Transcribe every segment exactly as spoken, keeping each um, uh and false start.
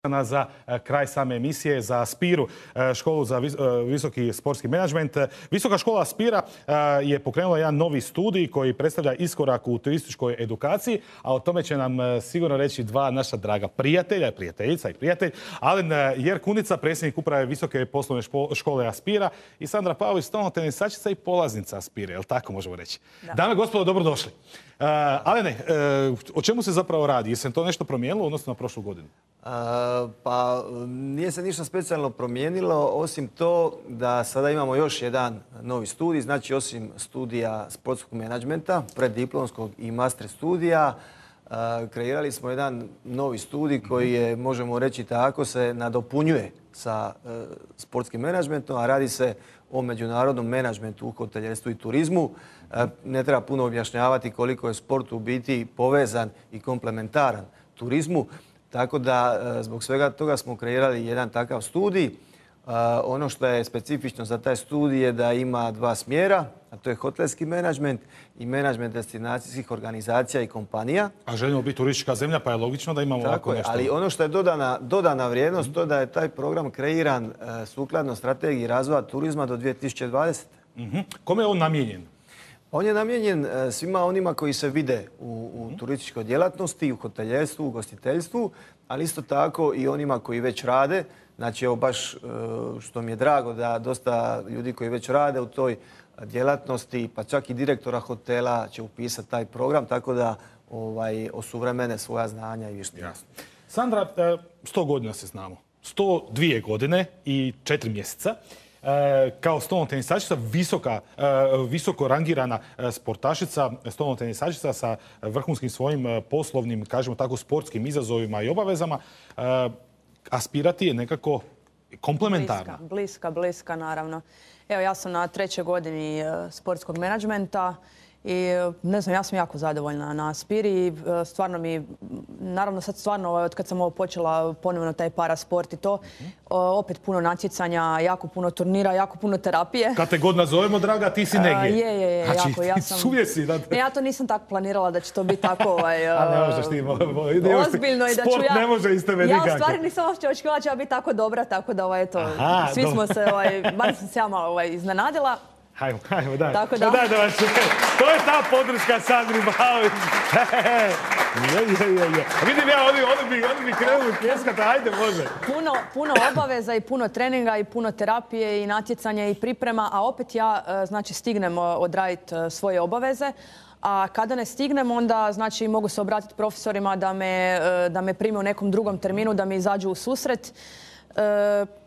za kraj same emisije, za Aspiru, školu za visoki sportski menadžment. Visoka škola Aspira je pokrenula jedan novi studij koji predstavlja iskorak u turističkoj edukaciji, a o tome će nam sigurno reći dva naša draga prijatelja, prijateljica i prijatelj, Alen Jerkunica, predsjednik uprave Visoke poslovne škole Aspira, i Sandra Pavlović, stalno tenisačica i polaznica Aspire, jel tako možemo reći? Da. Dame i gospodo, dobrodošli. Uh, Alene, uh, o čemu se zapravo radi? Je se to nešto promijenilo odnosno na prošlu godinu? Uh, pa nije se ništa specijalno promijenilo, osim to da sada imamo još jedan novi studij, znači osim studija sportskog menadžmenta, preddiplomskog i master studija, uh, kreirali smo jedan novi studij koji je, možemo reći tako, se nadopunjuje sa uh, sportskim menadžmentom, a radi se o međunarodnom menadžmentu u hotelijerstvu i turizmu. Ne treba puno objašnjavati koliko je sport u biti povezan i komplementaran turizmu. Tako da zbog svega toga smo kreirali jedan takav studij. Ono što je specifično za taj studij je da ima dva smjera, a to je hotelski menadžment i menadžment destinacijskih organizacija i kompanija. A želimo biti turistička zemlja, pa je logično da imamo ovako nešto. Ali ono što je dodana, dodana vrijednost, mm-hmm. to da je taj program kreiran uh, sukladno strategiji razvoja turizma do dvije tisuće dvadesete. Mm-hmm. Kome je on namijenjen? On je namijenjen uh, svima onima koji se vide u, u mm-hmm. turističkoj djelatnosti, u hotelijerstvu, u gostiteljstvu, ali isto tako i onima koji već rade. Znači, evo baš uh, što mi je drago da dosta ljudi koji već rade u toj djelatnosti, pa čak i direktora hotela će upisati taj program, tako da ovaj, osuvremene svoja znanja i vještine. Sandra, sto godina se znamo. sto dvije godine i četiri mjeseca. Kao stolno tenisačica, visoka, visoko rangirana sportašica, stolno tenisačica sa vrhunskim svojim poslovnim, kažemo tako, sportskim izazovima i obavezama, aspirati je nekako komplementarna. Bliska, bliska, bliska, naravno. Evo, ja sam na trećoj godini sportskog menadžmenta i ne znam, ja sam jako zadovoljna na Aspiri i stvarno mi, naravno sad stvarno od kad sam ovo počela ponovno taj parasport i to, mm-hmm. opet puno natjecanja, jako puno turnira, jako puno terapije. Kad te god nazovemo, draga, ti si negdje. Uh, je, je, je, znači, jako. Ja sam... Suvjesi, da... Ne, ja to nisam tako planirala da će to biti tako ovaj, a ne možeš ti, ozbiljno i da ću sport ja... ne može iz tebe nikako. Ja u stvari nisam uopće očekivala da će ja biti tako dobra, tako da ovaj, eto, Aha, svi dobro. smo se, ovaj, bar sam se ja malo ovaj, iznenadila. Hajmo, hajmo, daj. Tako da. Daj da vas čujem. To je ta podrška Sandri Pavlović. Je, je, je, je. Vidim ja, oni, oni bi, oni bi krenuli pljeskati, ajde, može. Puno, puno obaveza i puno treninga i puno terapije i natjecanja i priprema, a opet ja, znači, stignem odraditi svoje obaveze. A kada ne stignem, onda znači mogu se obratiti profesorima da me, da me prime u nekom drugom terminu, da mi izađu u susret.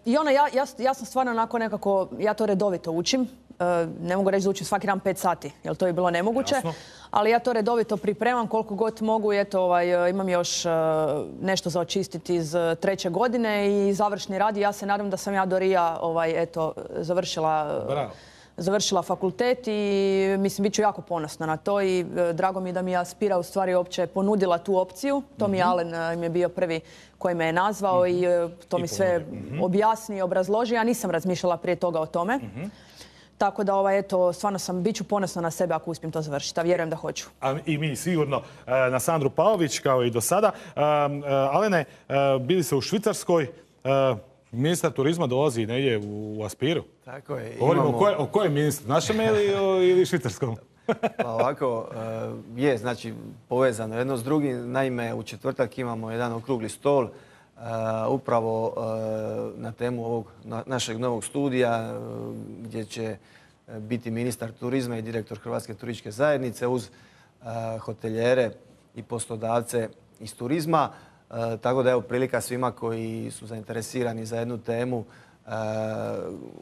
I ono, ja, ja, ja sam stvarno onako nekako, ja to redovito učim. Ne mogu reći da učim svaki dan pet sati, jer to je bilo nemoguće. Jasno. Ali ja to redovito pripremam koliko god mogu. Eto, ovaj, imam još nešto za očistiti iz treće godine i završni rad. Ja se nadam da sam ja do Rija ovaj, eto, završila, završila fakultet i mislim, bit ću jako ponosna na to i drago mi je da mi je Aspira u stvari uopće ponudila tu opciju. To mi je Alen im je bio prvi koji me je nazvao mm-hmm. i to I mi sve mm-hmm. objasni i obrazloži. Ja nisam razmišljala prije toga o tome. Mm-hmm. Tako da, ovaj, eto, stvarno sam, bit ću ponosna na sebe ako uspijem to završiti, a vjerujem da hoću. A i mi sigurno na Sandru Pavlović, kao i do sada. Alene, bili se u Švicarskoj, ministar turizma dolazi negdje u Aspiru. Tako je. Govorimo imamo... o, koje, o kojem ministru, našem ili, ili švicarskom? Pa ovako, je, znači, povezano jedno s drugim. Naime, u četvrtak imamo jedan okrugli stol Uh, upravo uh, na temu ovog na, našeg novog studija uh, gdje će uh, biti ministar turizma i direktor Hrvatske turističke zajednice uz uh, hotelijere i poslodavce iz turizma. Uh, tako da je prilika svima koji su zainteresirani za jednu temu uh,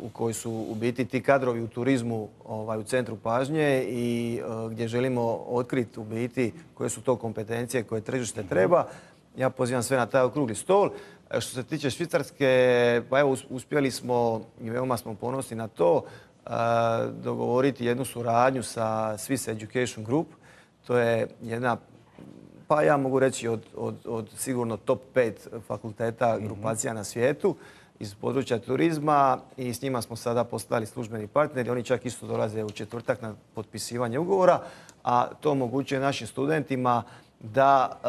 u kojoj su u biti ti kadrovi u turizmu ovaj, u centru pažnje i uh, gdje želimo otkriti u biti koje su to kompetencije koje tržište treba. Ja pozivam sve na taj okrugli stol. Što se tiče Švicarske, pa evo uspjeli smo i veoma smo ponosni na to dogovoriti jednu suradnju sa Swiss Education Group. To je jedna, pa ja mogu reći od, od, od sigurno top pet fakulteta grupacija na svijetu iz područja turizma i s njima smo sada postali službeni partneri. Oni čak isto dolaze u četvrtak na potpisivanje ugovora, a to omogućuje našim studentima da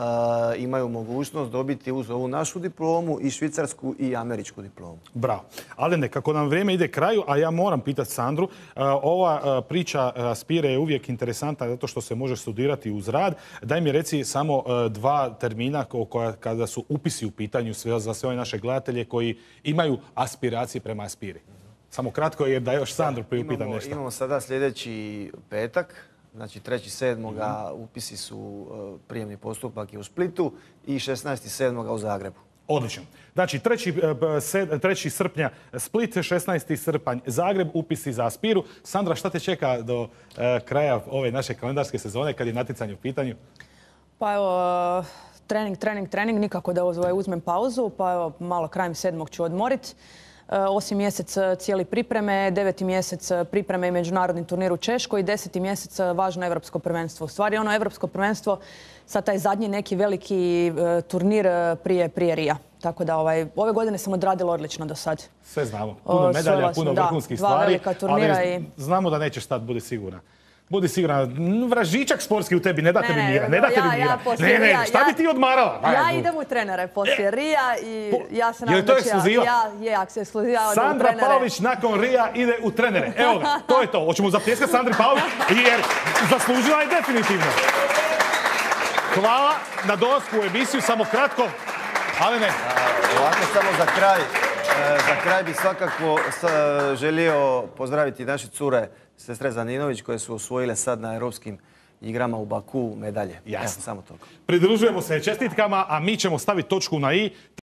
e, imaju mogućnost dobiti uz ovu našu diplomu i švicarsku i američku diplomu. Bravo. Ali ne, kako nam vrijeme ide kraju, a ja moram pitati Sandru, e, ova e, priča Aspire je uvijek interesantna zato što se može studirati uz rad. Daj mi reci samo e, dva termina koja, kada su upisi u pitanju sve, za sve ove naše gledatelje koji imaju aspiracije prema Aspiri. Samo kratko je da još Sandru priupitam nešto. Imamo sada sljedeći petak. Znači, treći sedmoga upisi su prijemni postupak je u Splitu i šesnaesti sedmoga u Zagrebu. Odlično. Znači, treći srpnja Split, šesnaesti srpanj Zagreb, upisi za Aspiru. Sandra, šta te čeka do kraja ove naše kalendarske sezone kad je natjecanje u pitanju? Pa evo, trening, trening, trening. Nikako da uzmem pauzu. Pa evo, malo krajem sedmog ću odmoriti. Osmi mjesec cijeli pripreme, deveti mjesec pripreme i međunarodni turnir u Češkoj i deseti mjesec važno evropsko prvenstvo. U stvari ono evropsko prvenstvo, sad taj zadnji neki veliki turnir prije, prije Rija. Tako da ovaj, ove godine sam odradila odlično do sad. Sve znamo. Puno medalja, puno vrhunskih stvari. Dva velika turnira ali i... znamo da nećeš stati, budi sigurna. Budi sigurna, vražičak sportski u tebi ne da te ni mira, ne da te ni mira. Ne, ne, šta bi ti odmarala? Ja idem u trenere poslije Rija i ja se nadam da će... Je li to ekskluziva? Ja, je, ako se ekskluziva u trenere. Sandra Pavlović nakon Rija ide u trenere. Evo ga, to je to. Hoćemo zapljeskati Sandri Pavlović jer zaslužila je definitivno. Hvala na dolasku u emisiju, samo kratko, ali ne. Ovako samo za kraj. Za kraj bih svakako želio pozdraviti naše cure sestre Zaninović koje su osvojile sad na europskim igrama u Baku medalje. Jasno. Samo toliko. Pridružujemo se čestitkama, a mi ćemo staviti točku na i.